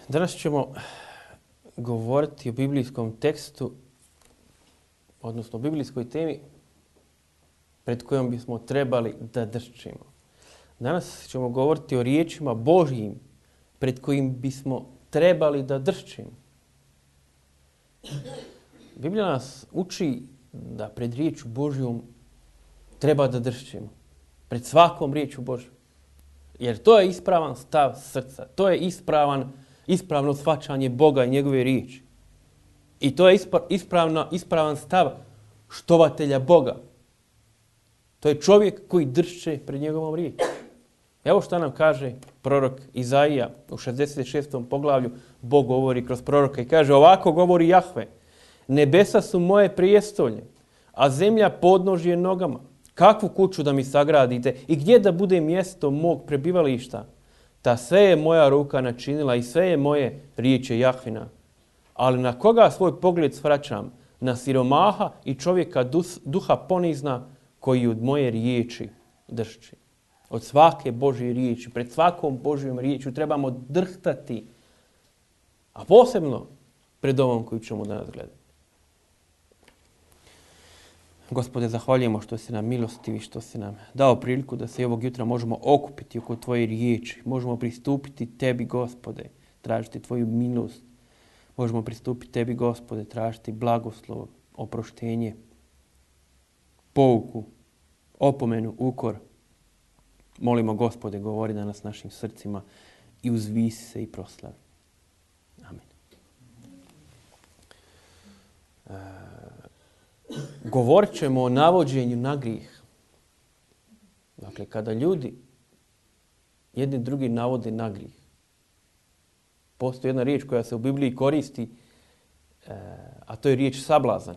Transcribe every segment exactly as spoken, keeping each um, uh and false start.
Danas ćemo govoriti o biblijskom tekstu, odnosno o biblijskoj temi pred kojom bismo trebali da dršćemo. Danas ćemo govoriti o riječima Božjim pred kojim bismo trebali da dršćemo. Biblija nas uči da pred riječu Božjom treba da dršćemo. Pred svakom riječu Božjom. Jer to je ispravan stav srca. To je ispravan, ispravno shvaćanje Boga i njegove riječi. I to je ispravno, ispravan stav štovatelja Boga. To je čovjek koji dršće pred njegovom riječi. Evo što nam kaže prorok Izaija u šezdeset šestom poglavlju. Bog govori kroz proroka i kaže: ovako govori Jahve: nebesa su moje prijestolje, a zemlja podnožje nogama. Kakvu kuću da mi sagradite i gdje da bude mjesto mog prebivališta? Ta sve je moja ruka načinila i sve je moje, riječi Jahvina. Ali na koga svoj pogled svraćam? Na siromaha i čovjeka duha ponizna koji od moje riječi dršći. Od svake Božje riječi, pred svakom Božjom riječju trebamo drhtati. A posebno pred ovom koju ćemo danas gledati. Gospode, zahvaljujemo što si nam milostivi, što si nam dao priliku da se i ovog jutra možemo okupiti oko tvoje riječi. Možemo pristupiti tebi, Gospode, tražiti tvoju milost. Možemo pristupiti tebi, Gospode, tražiti blagoslov, oproštenje, pouku, opomenu, ukor. Molimo, Gospode, govori danas našim srcima i uzvisi se i proslavi. Amen. E, govorit ćemo o navođenju na grijeh. Dakle, kada ljudi jedni drugi navode na grijeh. Postoji jedna riječ koja se u Bibliji koristi, a to je riječ sablazan.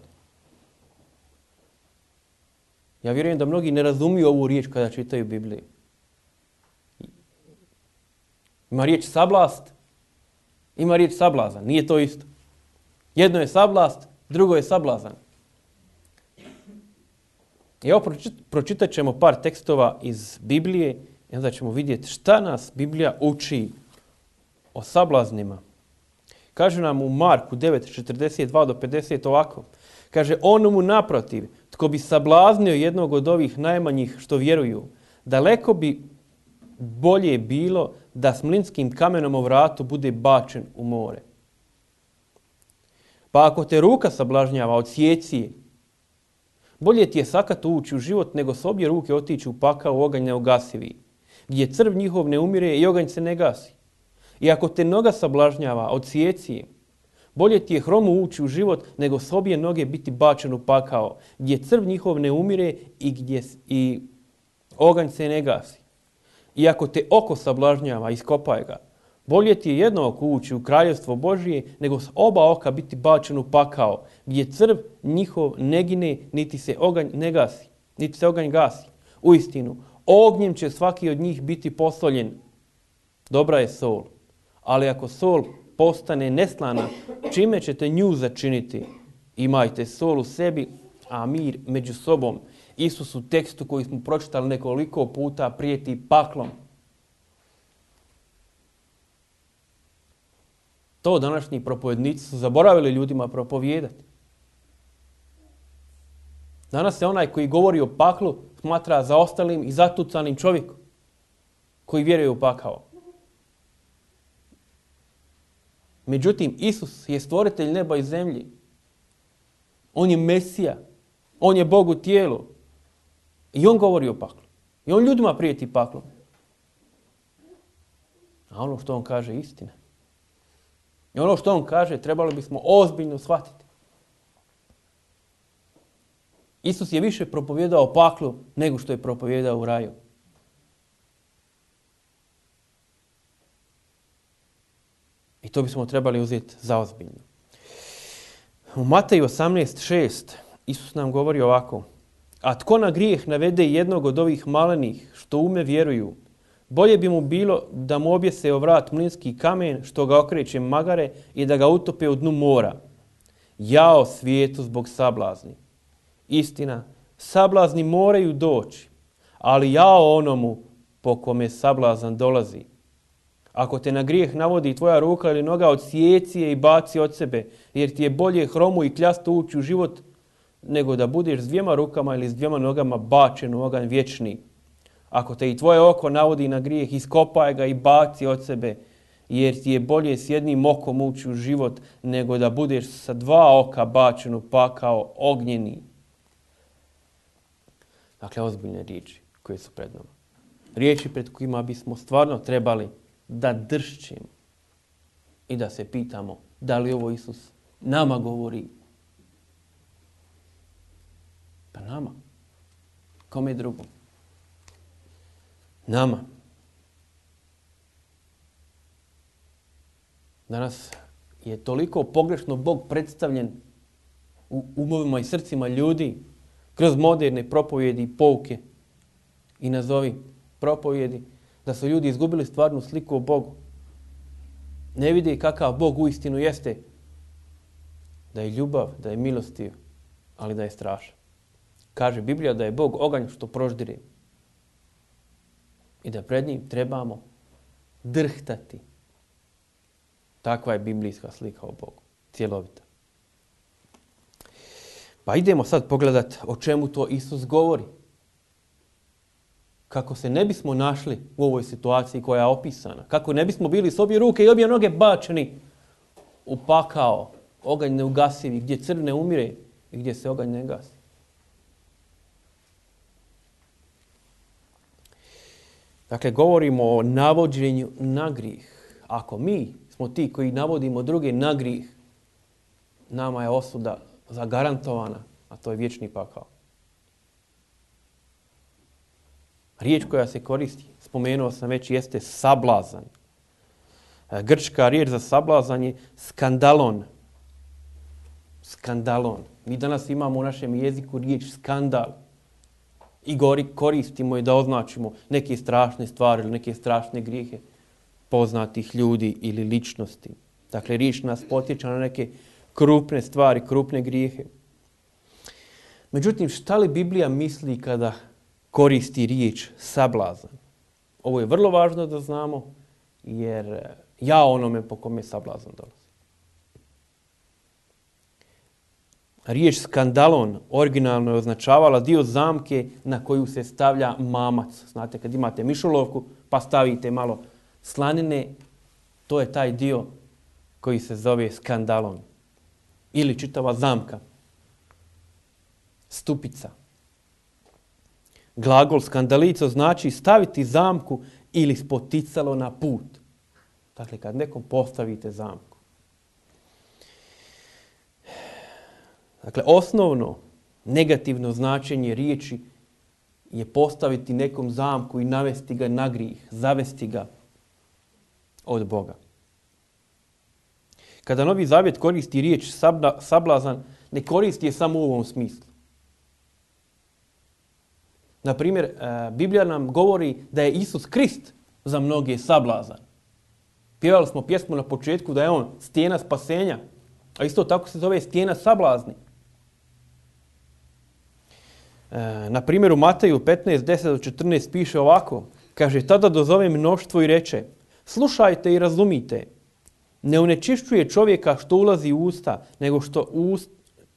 Ja vjerujem da mnogi ne razumiju ovu riječ kada čitaju Bibliju. Ima riječ sablast, ima riječ sablazan. Nije to isto. Jedno je sablast, drugo je sablazan. I evo pročitat ćemo par tekstova iz Biblije i onda ćemo vidjeti šta nas Biblija uči o sablaznima. Kaže nam u Marku devet, četrdeset dva do pedeset ovako. Kaže: onomu naprotiv, tko bi sablaznio jednog od ovih najmanjih što vjeruju, daleko bi bolje bilo da s mlinskim kamenom o vratu bude bačen u more. Pa ako te ruka sablažnjava, odsjeci je. Bolje ti je sakato ući u život nego s obje ruke otići u pakao u oganj neugasivi, gdje crv njihov ne umire i oganj se ne gasi. I ako te noga sablažnjava, odsjeci je. Bolje ti je hromu ući u život nego s obje noge biti bačen u pakao, gdje crv njihov ne umire i gdje i oganj se ne gasi. I ako te oko sablažnjava, iskopaj ga. Bolje ti je jedno oko ući u kraljevstvo Božije nego s oba oka biti bačen u pakao, gdje crv njihov ne gine, niti se oganj ne gasi, niti se oganj gasi. Uistinu, ognjem će svaki od njih biti posoljen. Dobra je sol, ali ako sol postane neslana, čime ćete nju začiniti? Imajte sol u sebi, a mir među sobom. Isus u tekstu koji smo pročitali nekoliko puta prijeti paklom. To današnji propovednici su zaboravili ljudima propovijedati. Danas se onaj koji govori o paklu smatra zaostalim i zatucanim čovjekom koji vjeruje u pakao. Međutim, Isus je stvoritelj neba i zemlji. On je Mesija. On je Bog u tijelu. I on govori o paklu. I on ljudima prijeti paklom. A ono što on kaže je istina. I ono što on kaže trebalo bismo ozbiljno shvatiti. Isus je više propovijedao o paklu nego što je propovijedao u raju. I to bismo trebali uzeti za ozbiljno. U Mateju osamnaest šest Isus nam govori ovako: a tko na grijeh navede jednog od ovih malenih što ume vjeruju, bolje bi mu bilo da mu objese o vrat mlinski kamen što ga okreće magare i da ga utope u dnu mora. Jao svijetu zbog sablazni. Istina, sablazni moraju doći, ali jao onomu po kome sablazan dolazi. Ako te na grijeh navodi tvoja ruka ili noga, odsjeci je i baci od sebe, jer ti je bolje hromu i kljastu ući u život, nego da budeš s dvijema rukama ili s dvijema nogama bačen u oganj vječni. Ako te i tvoje oko navodi na grijeh, iskopaj ga i baci od sebe, jer ti je bolje s jednim okom ući u život, nego da budeš sa dva oka bačen u pakao ognjeni. Dakle, ozbiljne riječi koje su pred nama. Riječi pred kojima bismo stvarno trebali da dršćimo i da se pitamo da li ovo Isus nama govori. Pa nama. Kome drugom? Nama. Danas je toliko pogrešno Bog predstavljen u umovima i srcima ljudi kroz moderne propovjedi i pouke i nazovi propovjedi, da su ljudi izgubili stvarnu sliku o Bogu. Ne vide kakav Bog uistinu jeste. Da je ljubav, da je milostiv, ali da je strašan. Kaže Biblija da je Bog oganj što proždire. I da pred njim trebamo drhtati. Takva je biblijska slika o Bogu. Cjelovita. Pa idemo sad pogledati o čemu to Isus govori. Kako se ne bismo našli u ovoj situaciji koja je opisana. Kako ne bismo bili s obje ruke i obje noge bačeni u pakao, oganj neugasivi, gdje crv ne umire i gdje se oganj ne gasi. Dakle, govorimo o navođenju na grijeh. Ako mi smo ti koji navodimo druge na grijeh, nama je osuda zagarantovana, a to je vječni pakao. Riječ koja se koristi, spomenuo sam već, jeste sablazan. Grčka riječ za sablazan je skandalon. Skandalon. Mi danas imamo u našem jeziku riječ skandal. I gori koristimo je da označimo neke strašne stvari ili neke strašne grijehe poznatih ljudi ili ličnosti. Dakle, riječ nas potiče na neke krupne stvari, krupne grijehe. Međutim, šta li Biblija misli kada koristi riječ sablazan? Ovo je vrlo važno da znamo, jer ja onome po kome sablazan dolazi. Riječ skandalon originalno je označavala dio zamke na koju se stavlja mamac. Znate, kad imate mišolovku pa stavite malo slanine, to je taj dio koji se zove skandalon. Ili čitava zamka. Stupica. Glagol skandalico znači staviti zamku ili spoticalo na put. Dakle, kad nekom postavite zamku. Dakle, osnovno negativno značenje riječi je postaviti nekom zamku i navesti ga na grijeh, zavesti ga od Boga. Kada Novi Zavjet koristi riječ sablazan, ne koristi je samo u ovom smislu. Na primjer, Biblija nam govori da je Isus Krist za mnoge sablazan. Pjevali smo pjesmu na početku da je on stijena spasenja, a isto tako se zove stijena sablazni. Na primjer, u Mateju petnaest, deset do četrnaest piše ovako. Kaže, tada dozove mnoštvo i reče, slušajte i razumite. Ne onečišćuje čovjeka što ulazi u usta, nego što ust,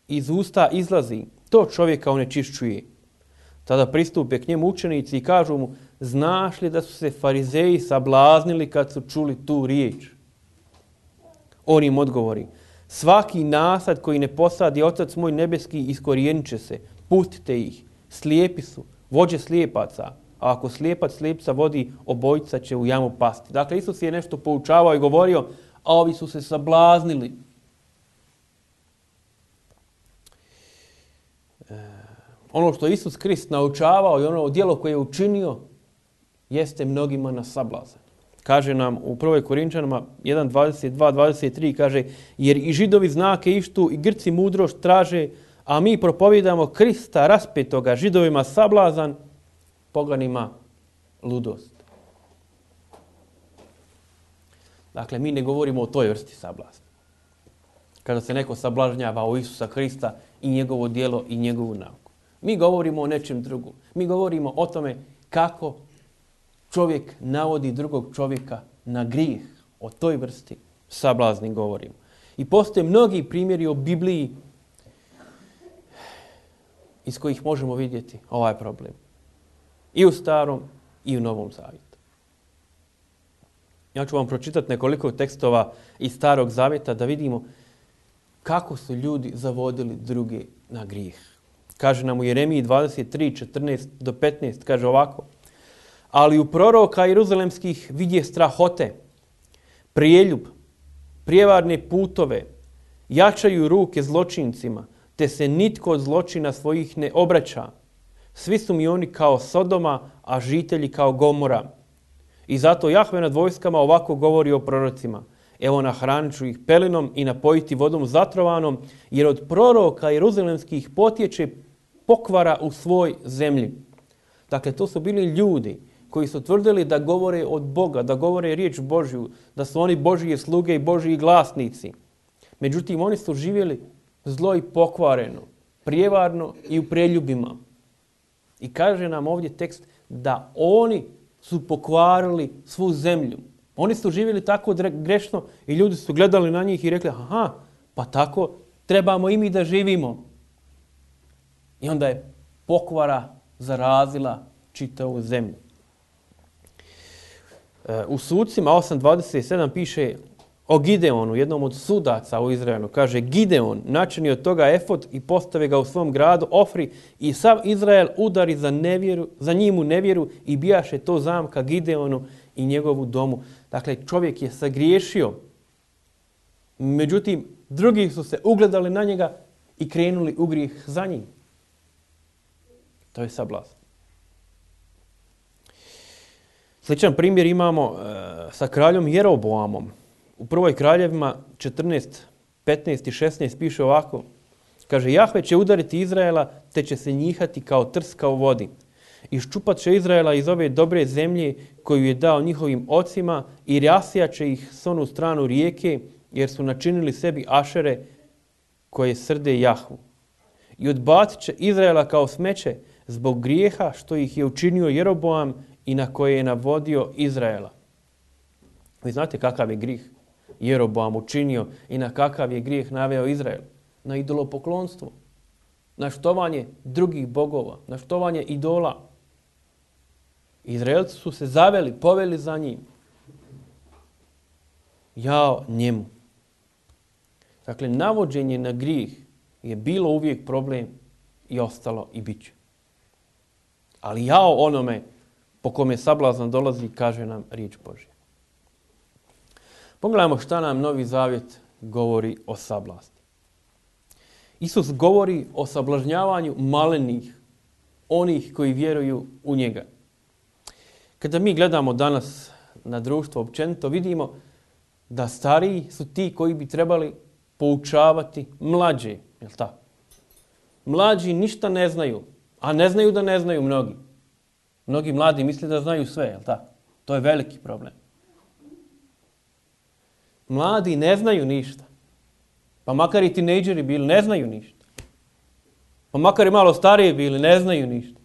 iz usta izlazi. To čovjeka onečišćuje. Tada pristupe k njemu učenici i kažu mu, znaš li da su se farizeji sablaznili kad su čuli tu riječ? On im odgovori, svaki nasad koji ne posadi Otac moj nebeski iskorijenit će se. Pustite ih, slijepi su, vođe slijepaca, a ako slijepac slijepca vodi, obojica će u jamu pasti. Dakle, Isus je nešto poučavao i govorio, a ovi su se sablaznili. E, ono što Isus Krist naučavao i ono djelo koje je učinio, jeste mnogima na sablazan. Kaže nam u prvoj Korinčanima jedan, dvadeset dva, dvadeset tri, kaže, jer i Židovi znake ištu i Grci mudrost traže, a mi propovijedamo Krista raspetoga, Židovima sablazan, poganima ludost. Dakle, mi ne govorimo o toj vrsti sablazna. Kada se neko sablažnjava u Isusa Krista i njegovo djelo i njegovu nauku. Mi govorimo o nečem drugom. Mi govorimo o tome kako čovjek navodi drugog čovjeka na grijeh. O toj vrsti sablazni govorimo. I postoje mnogi primjeri u Bibliji iz kojih možemo vidjeti ovaj problem. I u Starom i u Novom Zavjetu. Ja ću vam pročitati nekoliko tekstova iz Starog Zavjeta da vidimo kako su ljudi zavodili druge na grijeh. Kaže nam u Jeremiji dvadeset tri, četrnaest do petnaest, kaže ovako. Ali u proroka jeruzalemskih vidje strahote, prijeljub, prijevarne putove, jačaju ruke zločincima, te se nitko od zločina svojih ne obraća. Svi su mi oni kao Sodoma, a žitelji kao Gomora. I zato Jahve nad vojskama ovako govori o prorocima. Evo nahranit ću ih pelinom i napojiti vodom zatrovanom, jer od proroka jeruzalemskih potječe pokvara u svoj zemlji. Dakle, to su bili ljudi koji su tvrdili da govore od Boga, da govore riječ Božju, da su oni Božije sluge i Božji glasnici. Međutim, oni su živjeli zlo i pokvareno, prijevarno i u preljubima. I kaže nam ovdje tekst da oni su pokvarili svu zemlju. Oni su živjeli tako grešno i ljudi su gledali na njih i rekli, aha, pa tako trebamo i mi da živimo. I onda je pokvara zarazila čitavu zemlju. U Sucima osam dvadeset sedam piše o Gideonu, jednom od sudaca u Izraelu. Kaže, Gideon načini od toga efod i postave ga u svom gradu Ofri i sav Izrael udari za, nevjeru, za njim u nevjeru i bijaše to zamka Gideonu i njegovu domu. Dakle, čovjek je sagriješio. Međutim, drugi su se ugledali na njega i krenuli u grijeh za njim. To je sablazn. Sličan primjer imamo e, sa kraljom Jeroboamom. U prvoj kraljevima četrnaest, petnaest i šesnaest piše ovako. Kaže, Jahve će udariti Izraela, te će se njihati kao trska u vodi. Iščupat će Izraela iz ove dobre zemlje koju je dao njihovim ocima i rasijat će ih s onu stranu rijeke, jer su načinili sebi ašere koje srde Jahvu. I odbacit će Izraela kao smeće zbog grijeha što ih je učinio Jeroboam i na koje je navodio Izraela. Vi znate kakav je grijeh Jeroboam učinio i na kakav je grijeh naveo Izrael? Na idolopoklonstvo, na štovanje drugih bogova, na štovanje idola. Izraelci su se zaveli, poveli za njim. Jao njemu. Dakle, navođenje na grijeh je bilo uvijek problem i ostalo i bit će. Ali jao onome po kome sablazan dolazi, kaže nam riječ Božja. Pogledajmo šta nam Novi Zavjet govori o sablasti. Isus govori o sablažnjavanju malenih, onih koji vjeruju u njega. Kada mi gledamo danas na društvo općenito, vidimo da stariji su ti koji bi trebali poučavati mlađe. Jel tako? Mlađi ništa ne znaju, a ne znaju da ne znaju mnogi. Mnogi mladi misle da znaju sve, jel tako? To je veliki problem. Mladi ne znaju ništa. Pa makar i tinejdžeri bili, ne znaju ništa. Pa makar i malo stariji bili, ne znaju ništa.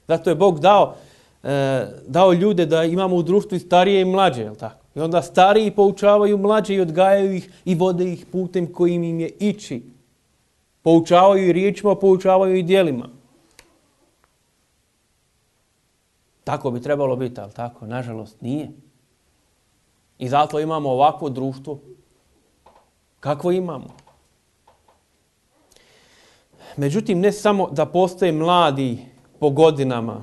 Zato je Bog dao, e, dao ljude da imamo u društvu i starije i mlađe, jel tako? I onda stariji poučavaju mlađe i odgajaju ih i vode ih putem kojim im je ići. Poučavaju i riječima, poučavaju i djelima. Tako bi trebalo biti, ali tako, nažalost, nije. I zato imamo ovakvo društvo kakvo imamo. Međutim, ne samo da postoje mladi po godinama,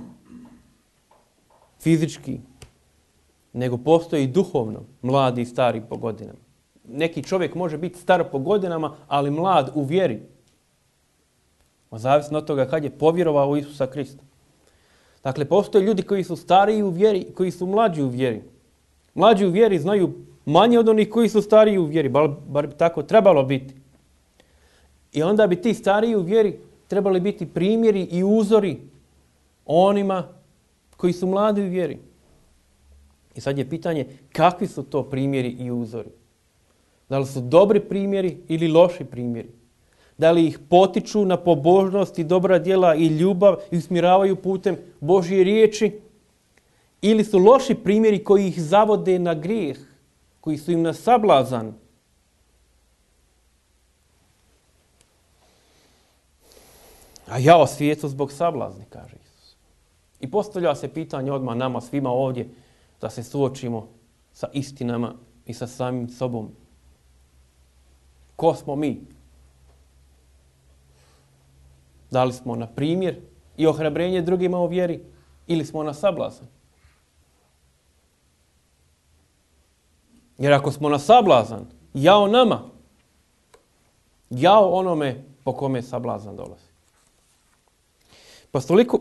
fizički, nego postoji i duhovno mladi i stari po godinama. Neki čovjek može biti star po godinama, ali mlad u vjeri. Zavisno od toga kad je povjerovao u Isusa Krista. Dakle, postoje ljudi koji su stariji u vjeri, koji su mlađi u vjeri. Mlađi u vjeri znaju manje od onih koji su stariji u vjeri, bar, bar bi tako trebalo biti. I onda bi ti stariji u vjeri trebali biti primjeri i uzori onima koji su mladi u vjeri. I sad je pitanje kakvi su to primjeri i uzori. Da li su dobri primjeri ili loši primjeri? Da li ih potiču na pobožnost i dobra djela i ljubav i usmjeravaju putem Božje riječi? ili su loši primjeri koji ih zavode na grijeh, koji su im na sablazan. A jao svijetu zbog sablazni, kaže Isus. I postavlja se pitanje odmah nama svima ovdje da se suočimo sa istinama i sa samim sobom. Ko smo mi? Da li smo na primjer i ohrabrenje drugima u vjeri ili smo na sablazan? Jer ako smo na sablazan, jao nama, jao onome po kome sablazan dolazi.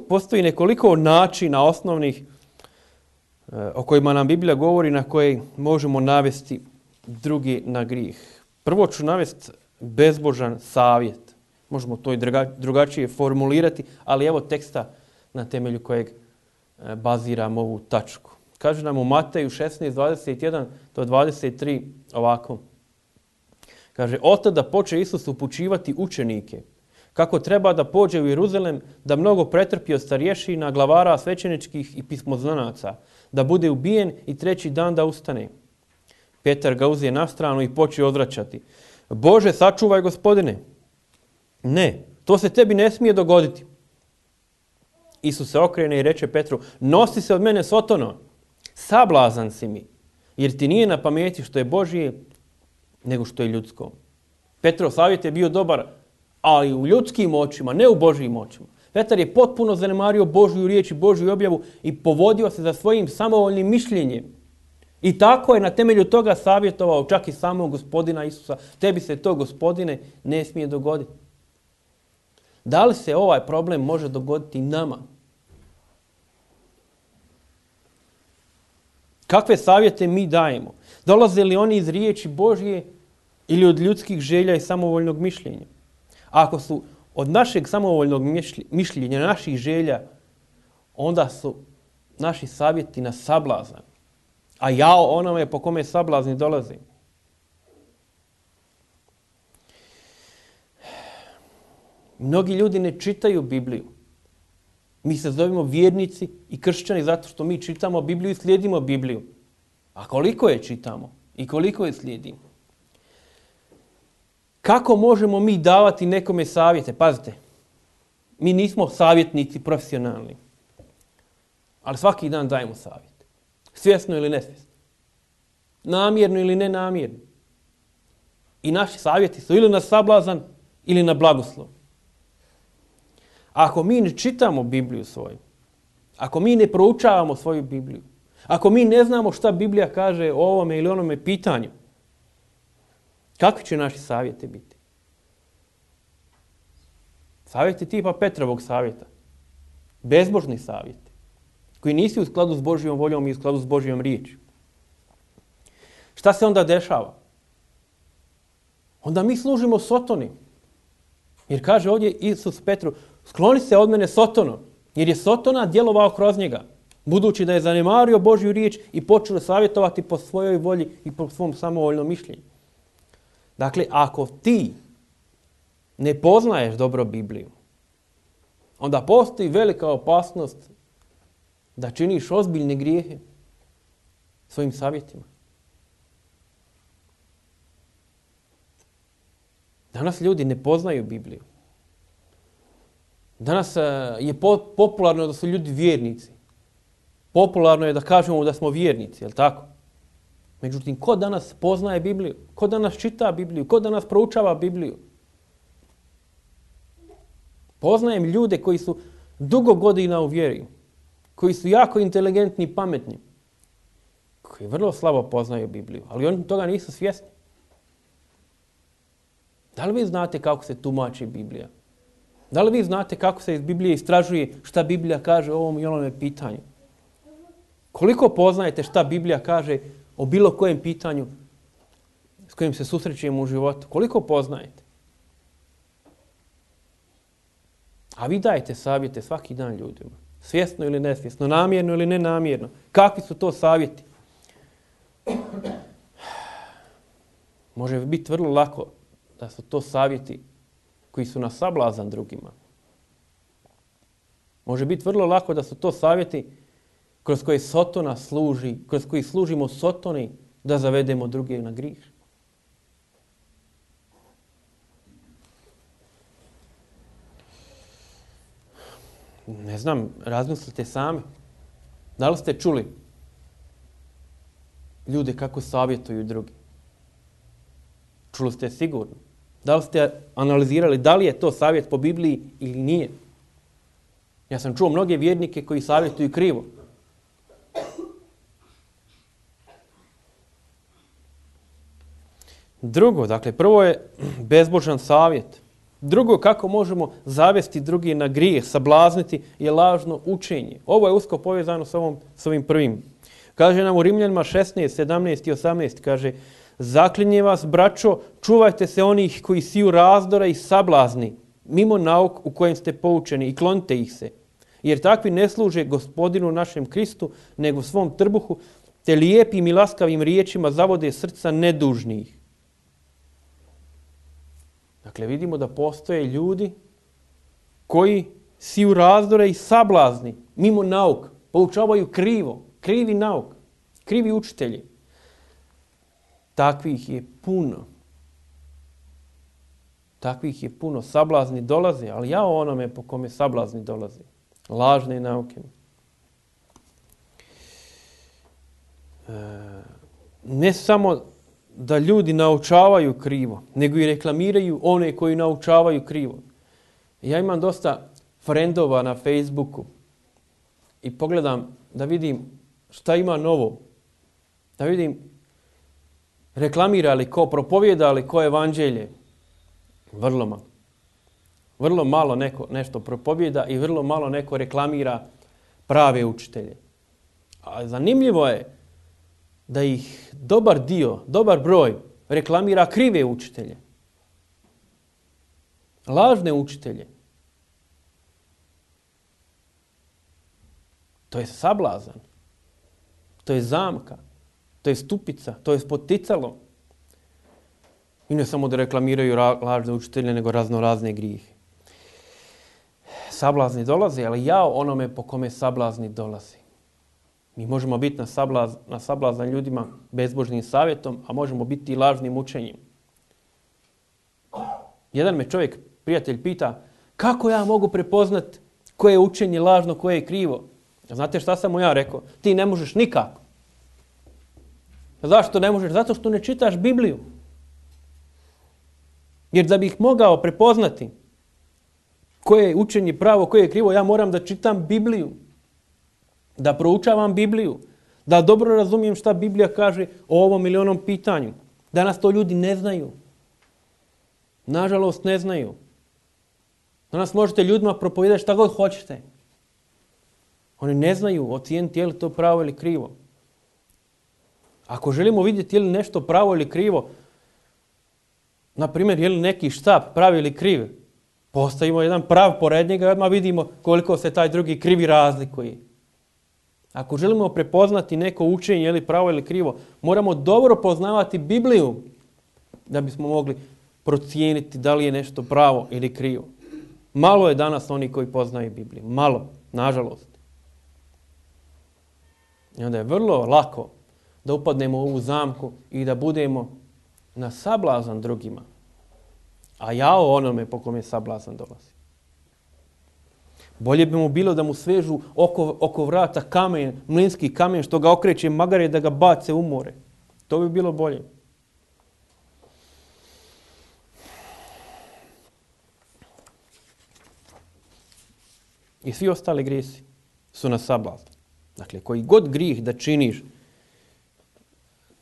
Postoji nekoliko načina osnovnih o kojima nam Biblija govori, na koje možemo navesti drugi na grijeh. Prvo ću navesti bezbožan savjet. Možemo to i drugačije formulirati, ali evo teksta na temelju kojeg baziram ovu tačku. Kaže nam u Mateju šesnaest, dvadeset jedan do dvadeset tri ovako. Kaže, od tada poče Isus upućivati učenike kako treba da pođe u Jeruzalem, da mnogo pretrpi od starješina, glavara, svećeničkih i pismoznanaca, da bude ubijen i treći dan da ustane. Petar ga uzije na stranu i počeo odvraćati. Bože, sačuvaj, Gospodine. Ne, to se tebi ne smije dogoditi. Isus se okrene i reče Petru, nosi se od mene, Sotono, sablazan si mi, jer ti nije na pameti što je Božije, nego što je ljudsko. Petrov savjet je bio dobar, ali u ljudskim očima, ne u Božijim očima. Petar je potpuno zanemario Božju riječ i Božju objavu i povodio se za svojim samovoljnim mišljenjem. I tako je na temelju toga savjetovao čak i samog Gospodina Isusa. Tebi se to, Gospodine, ne smije dogoditi. Da li se ovaj problem može dogoditi nama? Kakve savjete mi dajemo? Dolaze li oni iz riječi Božje ili od ljudskih želja i samovoljnog mišljenja? Ako su od našeg samovoljnog mišljenja, naših želja, onda su naši savjeti na sablazan. A jao onome po kome sablazni dolazi. Mnogi ljudi ne čitaju Bibliju. Mi se zovemo vjernici i kršćani zato što mi čitamo Bibliju i slijedimo Bibliju. A koliko je čitamo i koliko je slijedimo? Kako možemo mi davati nekome savjete? Pazite, mi nismo savjetnici profesionalni, ali svaki dan dajemo savjete. Svjesno ili nesvjesno. Namjerno ili nenamjerno. I naši savjeti su ili na sablazan ili na blagoslov. Ako mi ne čitamo Bibliju svoju, ako mi ne proučavamo svoju Bibliju, ako mi ne znamo šta Biblija kaže o ovome ili onome pitanju, kakvi će naši savjeti biti? Savjeti tipa Petrovog savjeta. Bezbožni savjeti. Koji nisu u skladu s Božjom voljom i u skladu s Božjom riječju. Šta se onda dešava? Onda mi služimo Sotoni. Jer kaže ovdje Isus Petru, skloni se od mene, Sotono. Jer je Sotona djelovao kroz njega. Budući da je zanemario Božju riječ i počeo savjetovati po svojoj volji i po svom samovoljnom mišljenju. Dakle, ako ti ne poznaješ dobro Bibliju, onda postoji velika opasnost da činiš ozbiljne grijehe svojim savjetima. Danas ljudi ne poznaju Bibliju. Danas je popularno da su ljudi vjernici. Popularno je da kažemo da smo vjernici, je li tako? Međutim, ko danas poznaje Bibliju? Ko danas čita Bibliju? Ko danas proučava Bibliju? Poznajem ljude koji su dugo godina u vjeri, koji su jako inteligentni i pametni, koji vrlo slabo poznaju Bibliju, ali oni toga nisu svjesni. Da li vi znate kako se tumači Biblija? Da li vi znate kako se iz Biblije istražuje šta Biblija kaže o ovom i onome pitanju? Koliko poznajete šta Biblija kaže o bilo kojem pitanju s kojim se susrećemo u životu? Koliko poznajete? A vi dajete savjete svaki dan ljudima. Svjesno ili nesvjesno, namjerno ili nenamjerno. Kakvi su to savjeti? Može biti vrlo lako da su to savjeti koji su na sablazan drugima. Može biti vrlo lako da su to savjeti kroz koje Sotona služi, kroz koji služimo Sotoni da zavedemo druge na grijeh. Ne znam, razmislite sami. Da li ste čuli ljude kako savjetuju drugi? Čuli ste sigurno. Da li ste analizirali da li je to savjet po Bibliji ili nije? Ja sam čuo mnoge vjernike koji savjetuju krivo. Drugo, dakle, prvo je bezbožan savjet. Drugo, kako možemo zavesti drugi na grijeh, sablazniti, je lažno učenje. Ovo je usko povezano s, ovom, s ovim prvim. Kaže nam u Rimljanima šesnaest, sedamnaest i osamnaest, kaže: zaklinje vas, braćo, čuvajte se onih koji siju razdora i sablazni, mimo nauk u kojem ste poučeni, i klonite ih se. Jer takvi ne služe Gospodinu našem Kristu, nego svom trbuhu, te lijepim i laskavim riječima zavode srca nedužnih. Dakle, vidimo da postoje ljudi koji siju razdore i sablazni, mimo nauk, poučavaju krivo, krivi nauk, krivi učitelji. Takvih je puno. Takvih je puno. Sablazni dolaze, ali ja o onome po kome sablazni dolaze. Lažne nauke. E, ne samo da ljudi naučavaju krivo, nego i reklamiraju one koji naučavaju krivo. Ja imam dosta frendova na Facebooku i pogledam da vidim šta ima novo. Da vidim reklamira li ko, propovjeda li ko evanđelje. Vrlo malo. Vrlo malo neko nešto propovjeda i vrlo malo neko reklamira prave učitelje. A zanimljivo je da ih dobar dio, dobar broj reklamira krive učitelje. Lažne učitelje. To je sablazan. To je zamka. To je stupica. To je spoticalo. I ne samo da reklamiraju lažne učitelje, nego razno razne grijehe. Sablazni dolaze, ali jao onome po kome sablazni dolazi. Mi možemo biti na, sablaz, na sablazan ljudima bezbožnim savjetom, a možemo biti i lažnim učenjem. Jedan me čovjek, prijatelj, pita: kako ja mogu prepoznat koje je učenje lažno, koje je krivo? Znate šta sam mu ja rekao? Ti ne možeš nikako. Zašto ne možeš? Zato što ne čitaš Bibliju. Jer da bih mogao prepoznati koje je učenje pravo, koje je krivo, ja moram da čitam Bibliju. Da proučavam Bibliju. Da dobro razumijem šta Biblija kaže o ovom ili onom pitanju. Danas to ljudi ne znaju. Nažalost ne znaju. Danas možete ljudima propovedati šta god hoćete. Oni ne znaju ocijeniti je li to pravo ili krivo. Ako želimo vidjeti je li nešto pravo ili krivo, na primjer, je li neki štap pravi ili kriv, postavimo jedan prav pored njega i odmah vidimo koliko se taj drugi krivi razlikuje. Ako želimo prepoznati neko učenje, je li pravo ili krivo, moramo dobro poznavati Bibliju da bismo mogli procijeniti da li je nešto pravo ili krivo. Malo je danas oni koji poznaju Bibliju. Malo, nažalost. I onda je vrlo lako da upadnemo u ovu zamku i da budemo na sablazan drugima. A jao onome po kome sablazan dolazi. Bolje bi mu bilo da mu svežu oko, oko vrata kamen, mlinski kamen što ga okreće magare da ga bace u more. To bi bilo bolje. I svi ostali grijesi su na sablazan. Dakle, koji god grijeh da činiš,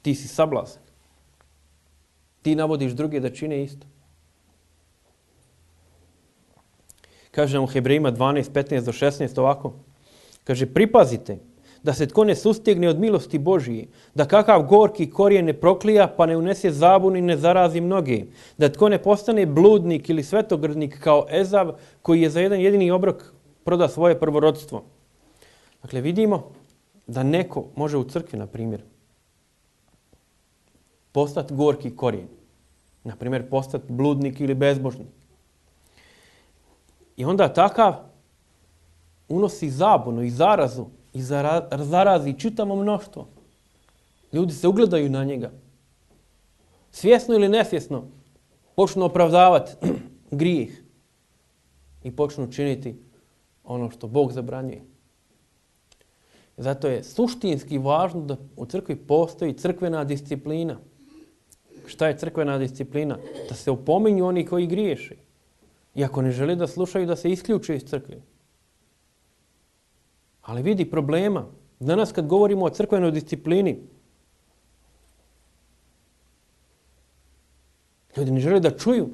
ti si sablazan. Ti navodiš druge da čine isto. Kaže nam u Hebrejima dvanaest, petnaest do šesnaest ovako. Kaže: pripazite da se tko ne sustegne od milosti Božije, da kakav gorki korijen ne proklija pa ne unese zabunu i ne zarazi mnoge, da tko ne postane bludnik ili svetogrdnik kao Ezav koji je za jedan jedini obrok proda svoje prvorodstvo. Dakle, vidimo da neko može u crkvi, na primjer, postati gorki korijen. Na primjer, postati bludnik ili bezbožnik. I onda takav unosi zabunu i zarazu i zarazi čitavo mnoštvo. Ljudi se ugledaju na njega. Svjesno ili nesvjesno počnu opravdavati grijeh i počnu činiti ono što Bog zabranjuje. Zato je suštinski važno da u crkvi postoji crkvena disciplina. Šta je crkvena disciplina? Da se opominju oni koji griješe. I ako ne žele da slušaju, da se isključe iz crkve. Ali vidi problema. Danas kad govorimo o crkvenoj disciplini, ljudi ne žele da čuju.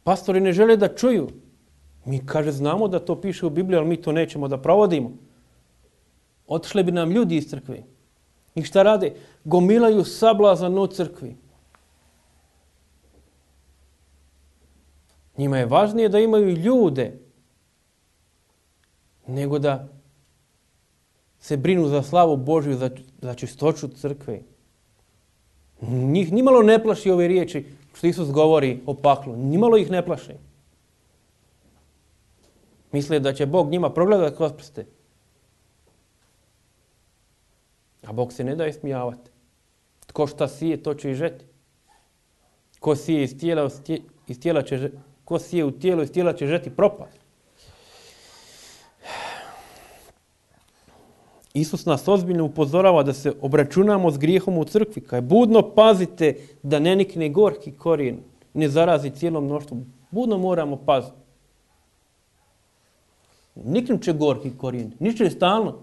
Pastori ne žele da čuju. Mi, kaže, znamo da to piše u Bibliji, ali mi to nećemo da provodimo. Otišli bi nam ljudi iz crkve. I šta rade? Gomilaju sablazan u crkvi. Njima je važnije da imaju ljude nego da se brinu za slavu Božju, za, za čistoću crkve. Njih nimalo ne plaši ove riječi što Isus govori o paklu. Nimalo ih ne plaši. Misle da će Bog njima progledati kroz prste. A Bog se ne da ismijavati. Tko šta sije, to će i žeti. Ko sije iz tijela, iz tijela će, ko sije u tijelu, iz tijela će žeti propast. Isus nas ozbiljno upozorava da se obračunamo s grijehom u crkvi. Kaj budno pazite da ne nikne gorki korijen, ne zarazi cijelo mnoštvo. Budno moramo paziti. Niknut će gorki korijen, niče stalno.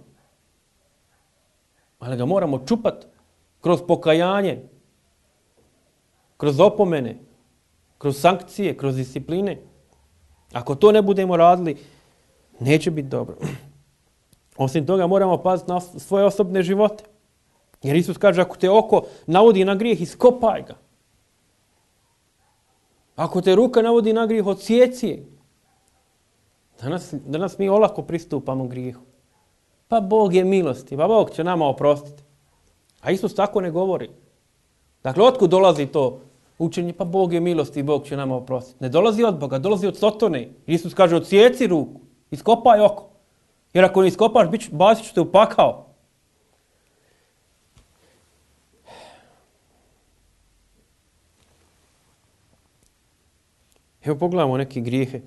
Ali ga moramo čupati kroz pokajanje, kroz opomene, kroz sankcije, kroz discipline. Ako to ne budemo radili, neće biti dobro. Osim toga moramo paziti na svoje osobne živote. Jer Isus kaže, ako te oko navodi na grijeh, iskopaj ga. Ako te ruka navodi na grijeh, odsjeci je. Danas, danas mi olako pristupamo grijehu. Pa Bog je milosti, pa Bog će nama oprostiti. A Isus tako ne govori. Dakle, otkud dolazi to učenje? Pa Bog je milosti i Bog će nama oprostiti. Ne dolazi od Boga, dolazi od Sotone. Isus kaže, odsjeci ruku, iskopaj oko. Jer ako ne iskopaš, bacit ću te u pakao. Evo pogledamo neke grijehe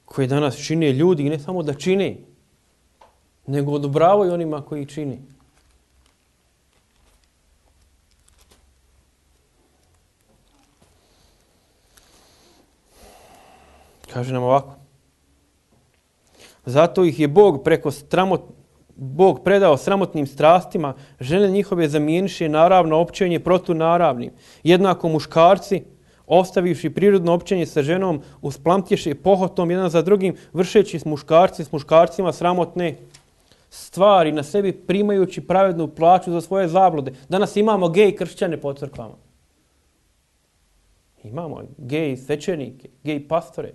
koje danas čine ljudi i ne samo da čine, nego odobravaju onima koji ih čini. Kaže nam ovako. Zato ih je Bog preko stramot, Bog predao sramotnim strastima, žene njihove zamijeniše naravno općenje protunaravnim. Jednako muškarci, ostavivši prirodno općenje sa ženom, usplamtješe pohotom jedan za drugim, vršeći s muškarci s muškarcima sramotne stvari, na sebi primajući pravednu plaću za svoje zablude. Danas imamo gej kršćane po crkvama. Imamo gej svećenike, gej pastore.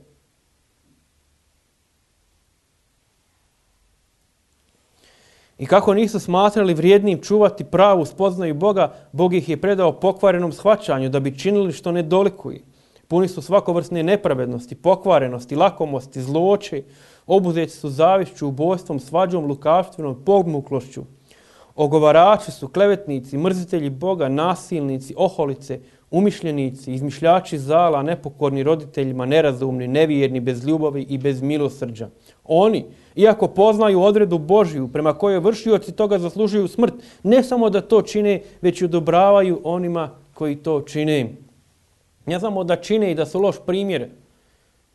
I kako nisu smatrali vrijednim čuvati pravu spoznaju Boga, Bog ih je predao pokvarenom shvaćanju da bi činili što ne dolikuje. Puni su svakovrsne nepravednosti, pokvarenosti, lakomosti, zloće, obuzeti su zavišću, ubojstvom, svađom, lukavstvenom, podmuklošću. Ogovarači su klevetnici, mrzitelji Boga, nasilnici, oholice, umišljenici, izmišljači zala, nepokorni roditeljima, nerazumni, nevjerni, bez ljubavi i bez milosrđa. Oni, iako poznaju odredu Božju prema kojoj vršioci toga zaslužuju smrt, ne samo da to čine, već i odobravaju onima koji to čine. Ne samo da čine i da su loš primjer,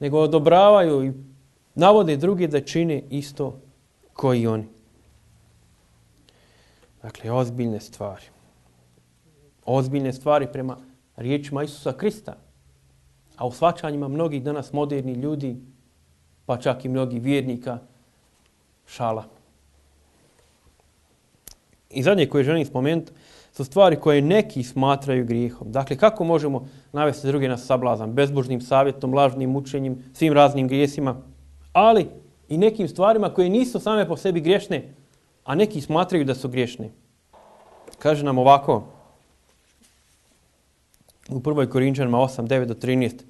nego odobravaju i navode druge da čine isto koji oni. Dakle, ozbiljne stvari. Ozbiljne stvari prema riječima Isusa Krista. A u shvaćanjima mnogih danas moderni ljudi, pa čak i mnogih vjernika, šala. I zadnje koje želim spomenuti su stvari koje neki smatraju grijehom. Dakle, kako možemo navesti druge na sablazan? Bezbožnim savjetom, lažnim učenjem, svim raznim grijesima, ali i nekim stvarima koje nisu same po sebi griješne, a neki smatraju da su griješne. Kaže nam ovako u prvoj Korinčanima osam, devet do trinaest.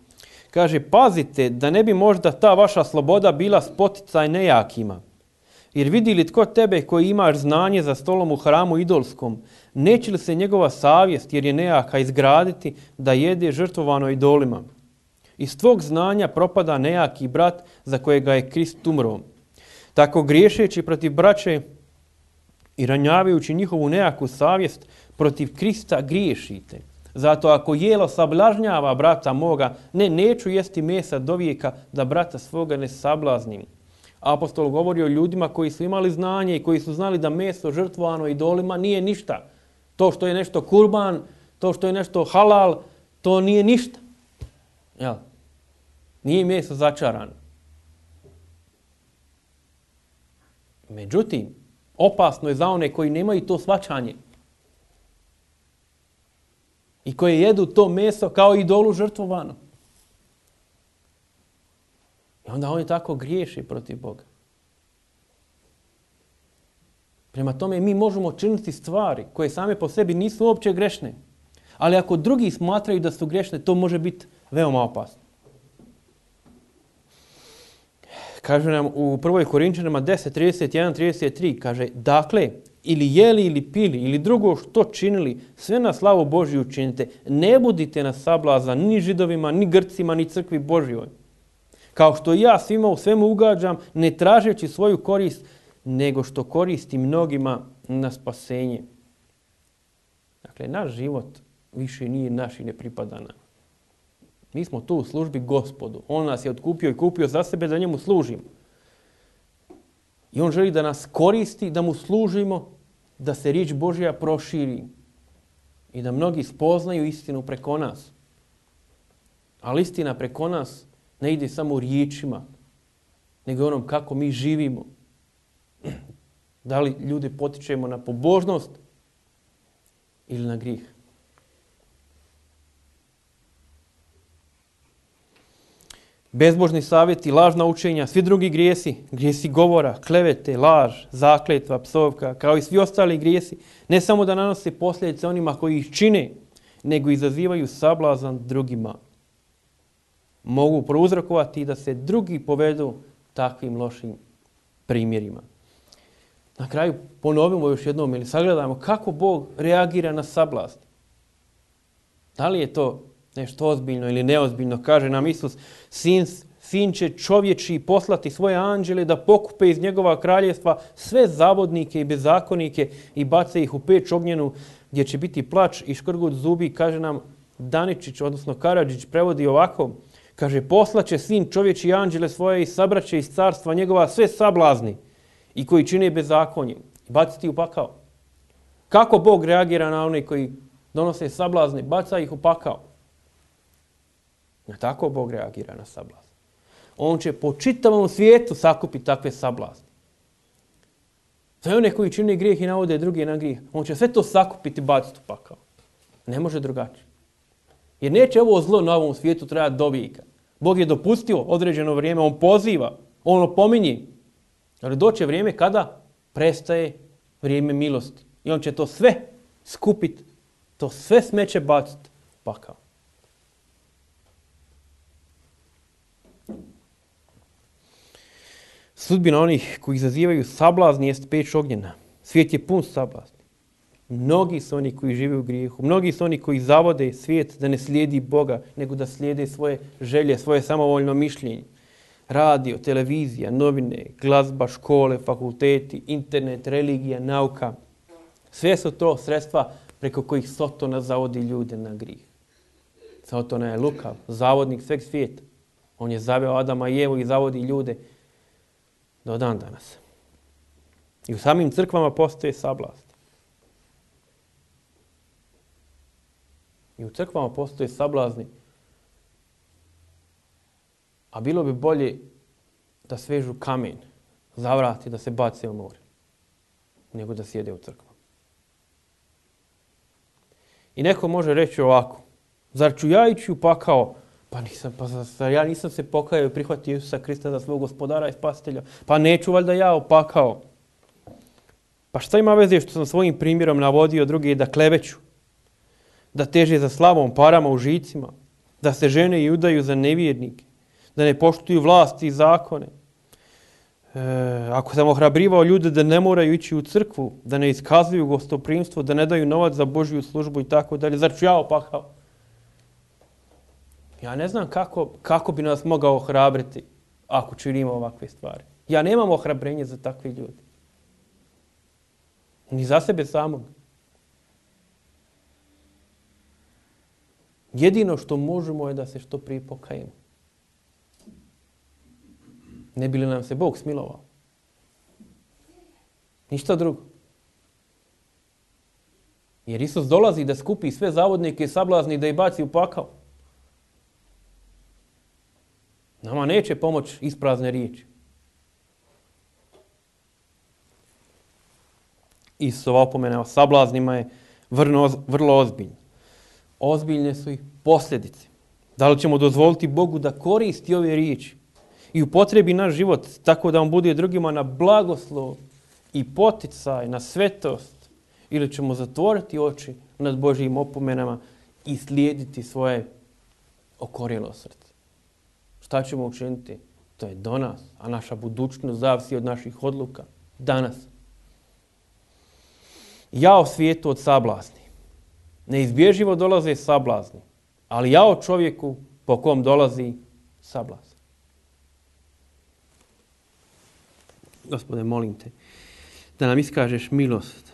Kaže, pazite da ne bi možda ta vaša sloboda bila spoticaj nejakima. Jer vidi li tko tebe koji imaš znanje za stolom u hramu idolskom, neće li se njegova savjest, jer je nejaka, izgraditi da jede žrtvovano idolima? Iz tvog znanja propada nejaki brat za kojega je Krist umro. Tako griješeći protiv braće i ranjavajući njihovu nejaku savjest, protiv Krista griješite. Zato ako jelo sablažnjava brata moga, ne, neću jesti mesa do vijeka da brata svoga ne sablaznim. Apostol govori o ljudima koji su imali znanje i koji su znali da meso žrtvovano idolima nije ništa. To što je nešto kurban, to što je nešto halal, to nije ništa. Jel? Nije meso začarano. Međutim, opasno je za one koji nemaju to shvaćanje i koji jedu to meso kao idolu žrtvovano. I onda oni tako griješe protiv Boga. Prema tome mi možemo činiti stvari koje same po sebi nisu uopće grešne. Ali ako drugi smatraju da su grešne, to može biti veoma opasno. Kaže nam u prvoj Korinčanima deset, trideset jedan, trideset tri, kaže, dakle, ili jeli ili pili ili drugo što činili, sve na slavu Božju činite. Ne budite na sablazan ni Židovima, ni Grcima, ni crkvi Božjoj. Kao što ja svima u svemu ugađam, ne tražeći svoju korist, nego što koristi mnogima na spasenje. Dakle, naš život više nije naš i ne pripada nam. Mi smo tu u službi Gospodu. On nas je otkupio i kupio za sebe da njemu služimo. I on želi da nas koristi, da mu služimo, da se riječ Božja proširi i da mnogi spoznaju istinu preko nas. Ali istina preko nas ne ide samo u riječima, nego onom kako mi živimo. Da li ljude potičemo na pobožnost ili na grijeh. Bezbožni savjeti, lažna učenja, svi drugi grijesi, grijesi govora, klevete, laž, zakletva, psovka, kao i svi ostali grijesi, ne samo da nanose posljedice onima koji ih čine, nego izazivaju sablazan drugima. Mogu prouzrokovati da se drugi povedu takvim lošim primjerima. Na kraju ponovimo još jednom ili sagledamo kako Bog reagira na sablazn. Da li je to nešto ozbiljno ili neozbiljno? Kaže nam Isus, sin, sin će čovječi poslati svoje anđele da pokupe iz njegova kraljevstva sve zavodnike i bezakonike i bace ih u peć ognjenu gdje će biti plač i škrgut zubi. Kaže nam Daničić, odnosno Karadžić, prevodi ovako. Kaže, poslaće sin čovječi anđele svoje i sabraće iz carstva njegova sve sablazni i koji čine bezakonje i baciti u pakao. Kako Bog reagira na one koji donose sablazne? Baca ih u pakao. Na tako Bog reagira na sablazn. On će po čitavom svijetu sakupiti takve sablazne. Sve one koji čine grijeh i navode druge na grijeh, on će sve to sakupiti i baciti u pakao. Ne može drugačije. Jer neće ovo zlo na ovom svijetu trajati do vijeka. Bog je dopustio određeno vrijeme, on poziva, on opominje. Ali doće vrijeme kada prestaje vrijeme milosti. I on će to sve skupiti, to sve smeće baciti u pakao. Sudbina onih koji izazivaju sablazni jest peć ognjena. Svijet je pun sablazni. Mnogi su oni koji žive u grijehu. Mnogi su oni koji zavode svijet da ne slijedi Boga, nego da slijede svoje želje, svoje samovoljno mišljenje. Radio, televizija, novine, glazba, škole, fakulteti, internet, religija, nauka. Sve su to sredstva preko kojih Sotona zavodi ljude na grijeh. Sotona je lukav, zavodnik sveg svijeta. On je zaveo Adama i Evu i zavodi ljude do dan danas. I u samim crkvama postoje sablazn. I u crkvama postoje sablazni. A bilo bi bolje da svežu kamen, zavrati, da se bace u more, nego da sjede u crkvama. I neko može reći ovako, zar ću ja ići u pakao? Pa nisam, pa zar ja nisam se pokajao i prihvatio Isusa Krista za svog gospodara i spasitelja. Pa neću valjda ja u pakao. Pa šta ima veze što sam svojim primjerom navodio druge da kleveću, da teže za slavom, parama, užicima, da se žene i udaju za nevjernike, da ne poštuju vlasti i zakone. E, ako sam ohrabrivao ljude da ne moraju ići u crkvu, da ne iskazuju gostoprimstvo, da ne daju novac za Božju službu i tako dalje, zar ću ja opakao? Ja ne znam kako, kako bi nas mogao ohrabriti ako činimo ovakve stvari. Ja nemam ohrabrenje za takve ljude. Ni za sebe samog. Jedino što možemo je da se što prije pokajemo. Ne bi li nam se Bog smilovao? Ništa drugo. Jer Isus dolazi da skupi sve zavodnike i sablazni da ih baci u pakao. Nama neće pomoći isprazne riječi. Isusova opomena o sablaznima je vrlo, vrlo ozbiljna. Ozbiljne su i posljedice. Da li ćemo dozvoliti Bogu da koristi ove riječi i upotrebi naš život tako da on bude drugima na blagoslov i poticaj, na svetost, ili ćemo zatvoriti oči nad Božjim opomenama i slijediti svoje okorjelo srce. Šta ćemo učiniti? To je do nas, a naša budućnost zavisi od naših odluka danas. Jao svijetu od sablazni. Neizbježivo dolaze sablazni, ali jao čovjeku po kom dolazi sablazn. Gospode, molim te da nam iskažeš milost,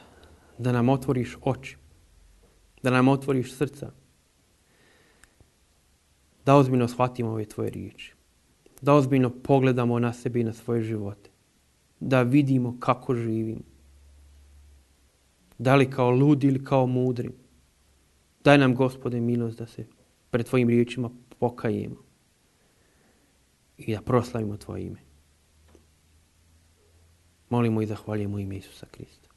da nam otvoriš oči, da nam otvoriš srca, da ozbiljno shvatimo ove tvoje riječi, da ozbiljno pogledamo na sebe i na svoje živote, da vidimo kako živimo, da li kao ludi ili kao mudri. Daj nam, Gospode, milost da se pred tvojim riječima pokajemo i da proslavimo tvoje ime. Molimo i zahvaljujemo ime Isusa Krista.